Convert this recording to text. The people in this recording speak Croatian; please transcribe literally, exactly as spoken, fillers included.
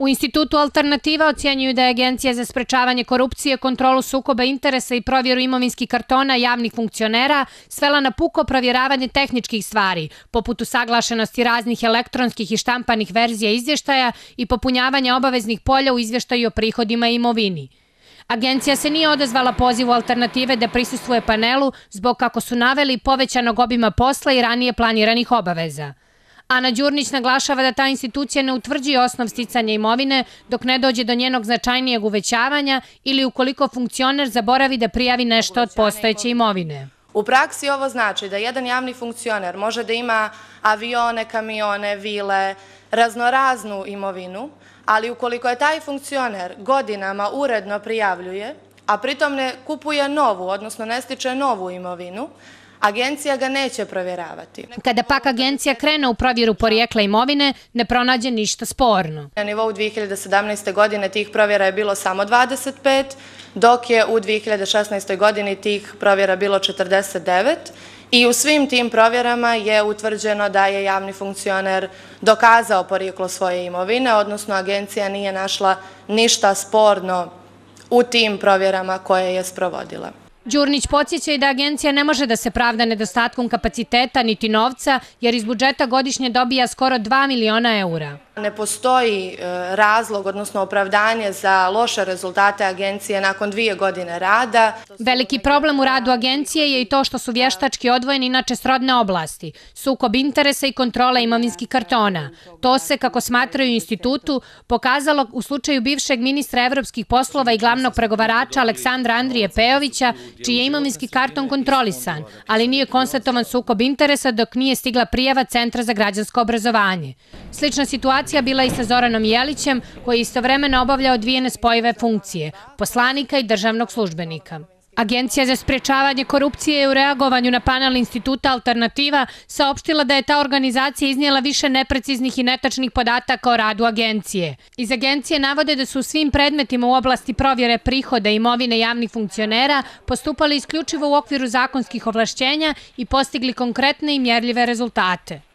U Institutu Alternativa ocjenjuju da je Agencija za sprečavanje korupcije, kontrolu sukoba interesa i provjeru imovinskih kartona javnih funkcionera svela na puko provjeravanje tehničkih stvari, poput usaglašenosti raznih elektronskih i štampanih verzija izvještaja i popunjavanja obaveznih polja u izvještaju o prihodima i imovini. Agencija se nije odazvala pozivu Alternative da prisustvuje panelu zbog, kako su naveli, povećanog obima posla i ranije planiranih obaveza. Ana Đurnić naglašava da ta institucija ne utvrđuje osnov sticanja imovine dok ne dođe do njenog značajnijeg uvećavanja ili ukoliko funkcioner zaboravi da prijavi nešto od postojeće imovine. U praksi ovo znači da jedan javni funkcioner može da ima avione, kamione, vile, raznoraznu imovinu, ali ukoliko je taj funkcioner godinama uredno prijavljuje, a pritom ne kupuje novu, odnosno ne stiče novu imovinu, Agencija ga neće provjeravati. Kada pak agencija krene u provjeru porijekla imovine, ne pronađe ništa sporno. Na nivou dvije hiljade sedamnaeste. godine tih provjera je bilo samo dvadeset pet, dok je u dvije hiljade šesnaestoj. godini tih provjera bilo četrdeset devet i u svim tim provjerama je utvrđeno da je javni funkcioner dokazao porijeklo svoje imovine, odnosno agencija nije našla ništa sporno u tim provjerama koje je sprovodila. Đurnić podsjeća i da agencija ne može da se pravda nedostatkom kapaciteta niti novca, jer iz budžeta godišnje dobija skoro dva miliona eura. Ne postoji razlog, odnosno opravdanje za loše rezultate agencije nakon dvije godine rada. Veliki problem u radu agencije je i to što su vještački odvojeni inače srodne oblasti, sukob interesa i kontrola imovinskih kartona. To se, kako smatraju u institutu, pokazalo u slučaju bivšeg ministra evropskih poslova i glavnog pregovarača Aleksandra Andrije Pejovića, čiji je imovinski karton kontrolisan, ali nije konstatovan sukob interesa dok nije stigla prijava Centra za građansko obrazovanje. Slična situacija bila i sa Zoranom Jelićem, koji je istovremeno obavljao dvije nespojive funkcije, poslanika i državnog službenika. Agencija za sprečavanje korupcije je u reagovanju na panel Instituta Alternativa saopštila da je ta organizacija iznijela više nepreciznih i netačnih podataka o radu agencije. Iz agencije navode da su u svim predmetima u oblasti provjere prihoda i imovine javnih funkcionera postupali isključivo u okviru zakonskih ovlašćenja i postigli konkretne i mjerljive rezultate.